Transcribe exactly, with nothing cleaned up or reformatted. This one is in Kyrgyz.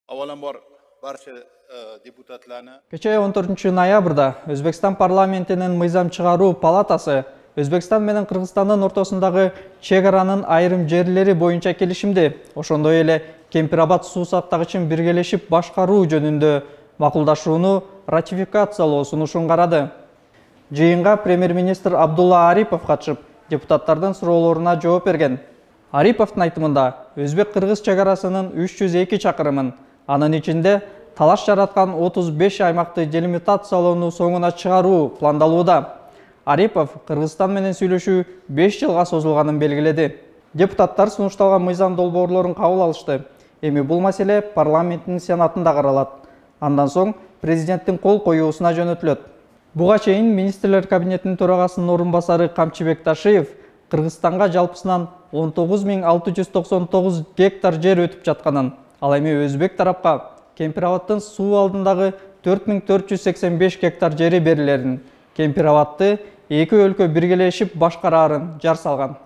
Avvalambor barcha deputatlarni Кечээ он төртүнчү ноябрда Өзбекстан парламентинин мыйзам чыгаруу палатасы Өзбекстан менен Кыргызстандын ортосундагы чек аранын айрым жерлери боюнча келишимди, ошондой эле Кемпир-Абад суу сактагычын биргелешип башкаруу жөнүндө макулдашууну ратификациялоо сунушун карады. Жыйынга премьер-министр Абдулла Арипов катышып, депутаттардын суроолоруна жооп берген. Ариповдун айтымында, Өзбек-Кыргыз чек арасынын үч жүз эки чакырымын, анын ичинде талаш жараткан отуз беш аймакты делимитациялоону соңуна чыгаруу пландалууда. Арипов Кыргызстан менен сүйлөшүү беш жылга созулганын белгиледи. Депутаттар сунушталган мыйзам долбоорлорун кабыл алышты. Эми бул маселе парламенттин сенатында каралат. Андан соң президенттин кол коюусуна жөнөтүлөт. Буга чейин министрлер кабинетинин төрагасынын орун басары Камчыбек Ташиев Кыргызстанга жалпысынан он тогуз миң алты жүз токсон тогуз гектар жер өтүп жатканын, ал эми Өзбек тарапка Кемпир-Абадтын суу алдындагы төрт миң төрт жүз сексен беш гектар жери берилерин, Кемпир-Абадты эки өлкө биргелешип башкараарын жар салган.